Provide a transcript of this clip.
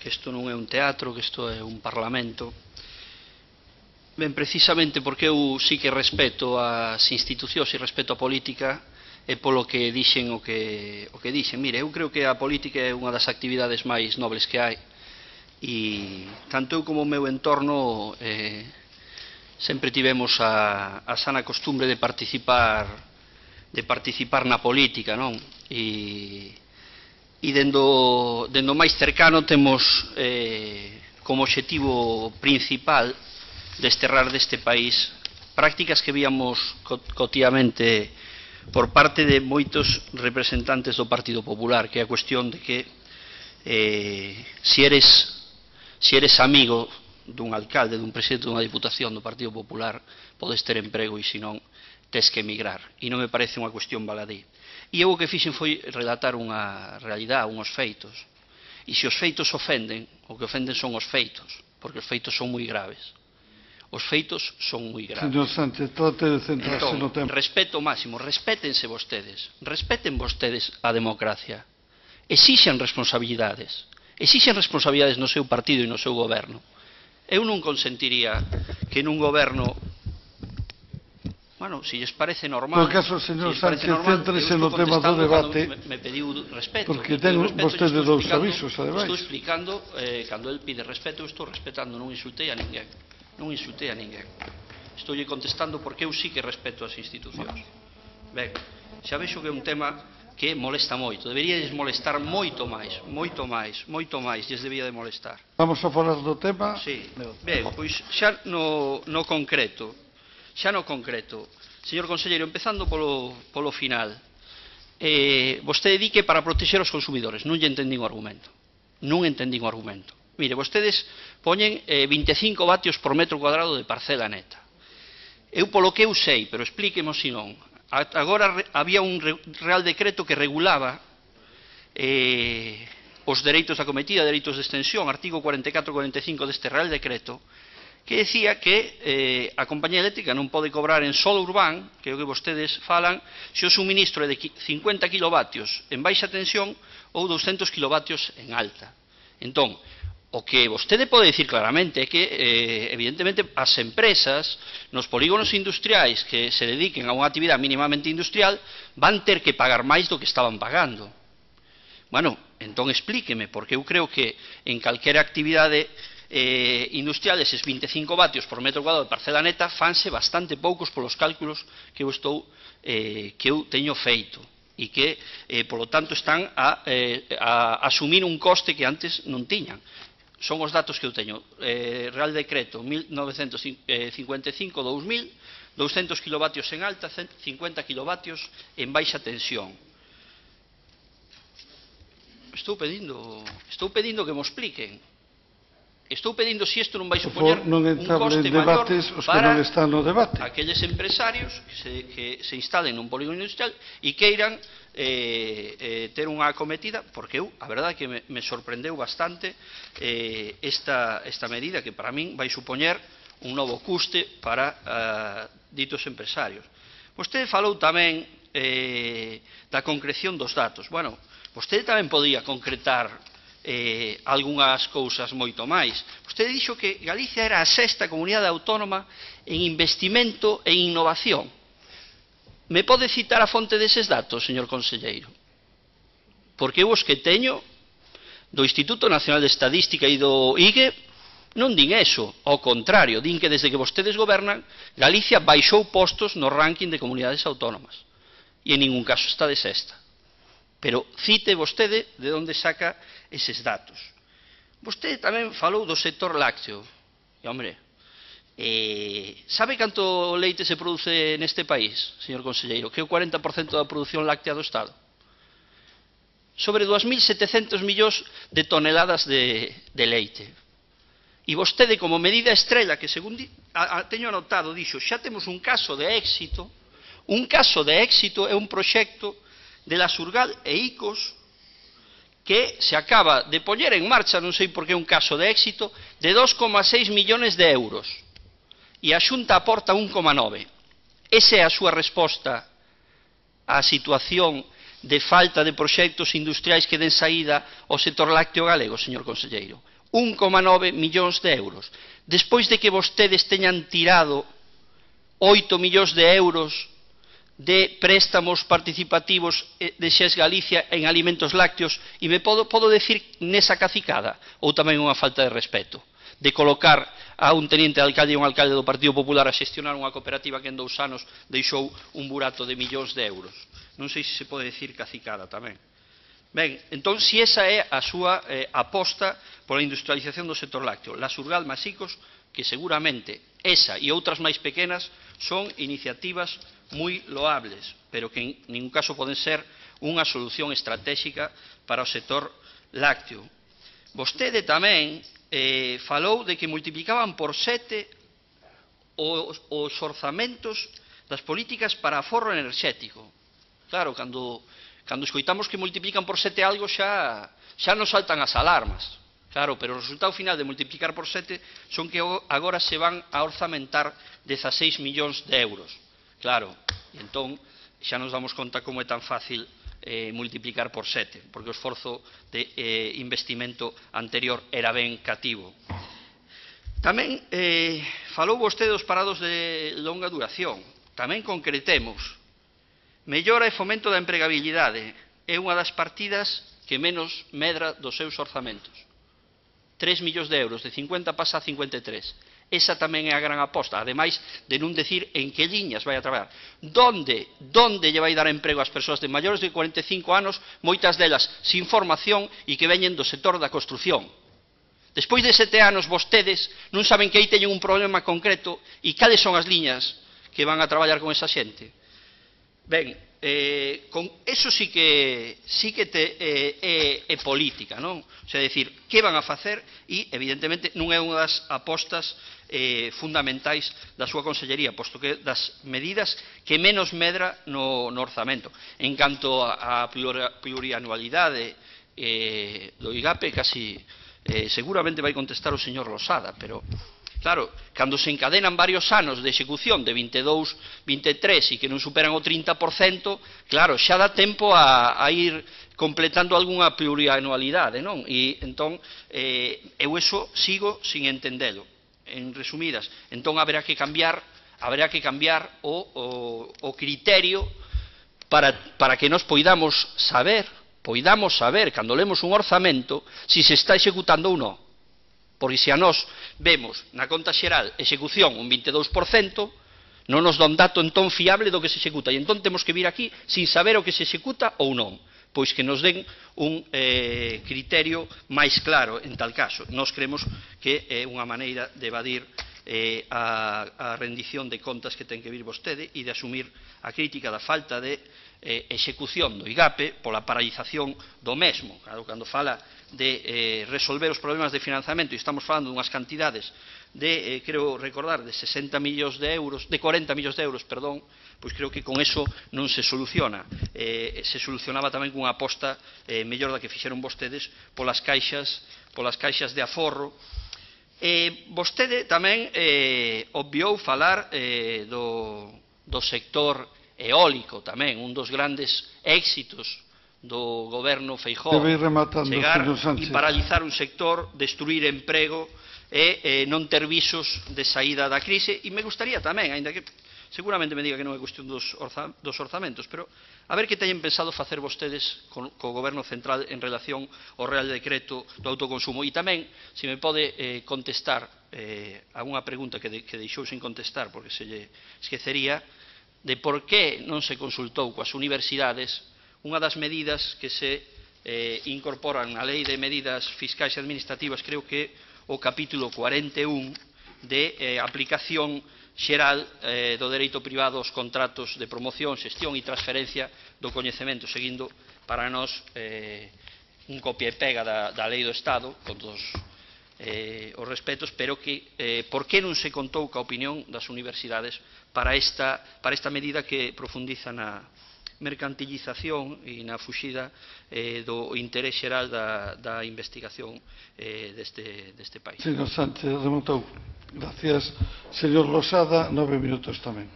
que isto non é un teatro, que isto é un parlamento. Ben, precisamente porque eu sí que respeto as institucións e respeto a política, e polo que dixen o que dixen. Mire, eu creo que a política é unha das actividades máis nobles que hai, e tanto eu como o meu entorno sempre tivemos a sana costumbre de participar na política, non? E dendo máis cercano temos como obxectivo principal desterrar deste país prácticas que víamos cotidianamente por parte de moitos representantes do Partido Popular, que é a cuestión de que se eres amigo dun alcalde, dun presidente dunha diputación do Partido Popular, podes ter emprego e senón tes que emigrar, e non me parece unha cuestión baladí. E eu o que fixen foi relatar unha realidade, unhos feitos, e se os feitos ofenden, o que ofenden son os feitos, porque os feitos son moi graves. Os feitos son moi graves. Señor Sánchez, trate de centrarse no tempo. Respeto máximo, respétense vostedes, respeten vostedes a democracia, exixen responsabilidades no seu partido e no seu goberno. Eu non consentiría que nun goberno, bueno, se lles parece normal... No caso, señor Sánchez, céntrese no tema do debate, me pediu respeto, porque ten vostede dous avisos, ademais. Estou explicando, cando el pide respeto, eu estou respetando, non insultei a ninguén. Non insultei a ninguén. Estou contestando porque eu sí que respeto as institucións. Ben, xa vexo que é un tema que molesta moito. Deberíades molestar moito máis, lles debía de molestar. Vamos a falar do tema? Sí. Ben, pois xa no concreto, señor conselleiro, empezando polo final, vostede di que para protexer os consumidores. Non lle entendín o argumento. Mire, vostedes poñen 25 vatios por metro cuadrado de parcela neta. Eu polo que eu sei, pero explíquemo se non. Agora había un real decreto que regulaba os dereitos da cometida, dereitos de extensión, artigo 44 e 45 deste real decreto, que decía que a compañía eléctrica non pode cobrar en solo urbán, que é o que vostedes falan, se o suministro é de 50 kilovatios en baixa tensión ou 200 kilovatios en alta. Entón, o que vostede pode dicir claramente é que, evidentemente, as empresas nos polígonos industriais que se dediquen a unha actividade mínimamente industrial van ter que pagar máis do que estaban pagando. Bueno, entón explíqueme, porque eu creo que en calquera actividade industrial eses 25 vatios por metro cuadrado de parcela neta fanse bastante poucos polos cálculos que eu teño feito, e que, polo tanto, están a asumir un coste que antes non tiñan. Son os datos que eu teño. Real Decreto 1955-2000, 200 kilovatios en alta, 50 kilovatios en baixa tensión. Estou pedindo que me expliquen. Estou pedindo se isto non vai supoñer un coste maior para aqueles empresarios que se instalen nun polígono industrial e queiran ter unha acometida, porque eu, a verdade, que me sorprendeu bastante esta medida, que para min vai supoñer un novo custe para ditos empresarios. Vostede falou tamén da concreción dos datos. Bueno, vostede tamén podía concretar algunhas cousas moito máis. Vostede dixo que Galicia era a sexta comunidade autónoma en investimento e innovación. Me pode citar a fonte deses datos, señor conselleiro? Porque eu os que teño do Instituto Nacional de Estadística e do IGE non din eso, ao contrario, din que desde que vostedes gobernan, Galicia baixou postos no ranking de comunidades autónomas e en ningún caso está de sexta. Pero cite vostede de onde saca eses datos. Vostede tamén falou do sector lácteo. E, hombre, sabe canto leite se produce neste país, señor conselleiro? Que é o 40% da produción láctea do Estado. Sobre 2.700 millóns de toneladas de leite. E vostede, como medida estrela, que según teño anotado, dixo, xa temos un caso de éxito. Un caso de éxito é un proxecto de la Surgal e ICOS que se acaba de poñer en marcha, non sei por que é un caso de éxito, de 2,6 millones de euros. E a Xunta aporta 1,9. Esa é a súa resposta á situación de falta de proxectos industriais que den saída ao sector lácteo galego, señor conselleiro. 1,9 millóns de euros. Despois de que vostedes teñan tirado 8 millóns de euros de préstamos participativos de Xes Galicia en alimentos lácteos, e me podo decir nesa cacicada, ou tamén unha falta de respeto, de colocar a un teniente de alcalde e un alcalde do Partido Popular a xestionar unha cooperativa que en 2 anos deixou un burato de millóns de euros. Non sei se pode decir cacicada tamén. Ben, entón, se esa é a súa aposta pola industrialización do sector lácteo, la Surgal Masicos, que seguramente esa e outras máis pequenas son iniciativas moi loables, pero que en ningún caso poden ser unha solución estratégica para o sector lácteo. Vostede tamén falou de que multiplicaban por 7 os orzamentos das políticas para aforro enerxético. Claro, cando escoitamos que multiplican por 7 algo xa nos saltan as alarmas. Claro, pero o resultado final de multiplicar por 7 son que agora se van a orzamentar 16 millóns de euros. Claro, e entón xa nos damos conta como é tan fácil multiplicar por 7, porque o esforzo de investimento anterior era ben cativo. Tamén falou vostede dos parados de longa duración. Tamén concretemos. Mellora e fomento da empregabilidade é unha das partidas que menos medra dos seus orzamentos. 3 millóns de euros, de 50 pasa a 53. Esa tamén é a gran aposta, ademais de non decir en que liñas vai a traballar. Donde lle vai dar emprego ás persoas de maiores de 45 anos, moitas delas sin formación e que veñen do sector da construción. Despois de 7 anos, vostedes non saben que aí teñen un problema concreto e cales son as liñas que van a traballar con esa xente. Ben, con eso sí que é política, non? O sea, decir, que van a facer e, evidentemente, non é unha das apostas fundamentais da súa consellería, posto que das medidas que menos medra no orzamento. En canto á plurianualidade do IGAPE, casi seguramente vai contestar o señor Losada, pero claro, cando se encadenan varios anos de execución de 22, 23 e que non superan o 30%, claro, xa dá tempo a ir completando algunha plurianualidade, non? E entón, eu eso sigo sin entendelo. En resumidas, entón haberá que cambiar o criterio para que nos poidamos saber, cando lemos un orzamento, se se está executando ou non. Porque se a nós vemos na conta xeral execución un 22%, non nos dá un dato entón fiable do que se executa. E entón temos que vir aquí sin saber o que se executa ou non. Pois que nos den un criterio máis claro en tal caso. Nós creemos que é unha maneira de evadir a rendición de contas que ten que vir vostede e de asumir a crítica da falta de execución do IGAPE pola paralización do mesmo. Claro, cando fala de resolver os problemas de financiamento e estamos falando dunhas cantidades de, creo recordar, de 60 millóns de euros, de 40 millóns de euros, perdón, pois creo que con eso non se soluciona. Se solucionaba tamén cunha aposta mellor da que fixeron vostedes polas caixas de aforro. Vostede tamén obviou falar do sector eólico tamén, un dos grandes éxitos do goberno Feijóo, chegar e paralizar un sector, destruir emprego e non ter visos de saída da crise. E me gustaría tamén, aínda que seguramente me diga que non é cuestión dos orzamentos, pero a ver que teñen pensado facer vostedes co goberno central en relación ao Real Decreto do autoconsumo. E tamén, se me pode contestar a unha pregunta que deixou sin contestar porque se lle esquecería, de por que non se consultou coas universidades unha das medidas que se incorporan na Lei de Medidas Fiscais e Administrativas, creo que o capítulo 41 de aplicación xeral do dereito privado aos contratos de promoción, xestión e transferencia do coñecemento, seguindo para nós un copia e pega da Lei do Estado, con todos os respetos, pero que por que non se contou ca opinión das universidades para esta medida que profundiza na mercantilización e na fuxida do interés xeral da investigación deste país. Señor Sánchez rematou. Gracias. Señor Losada, 9 minutos tamén.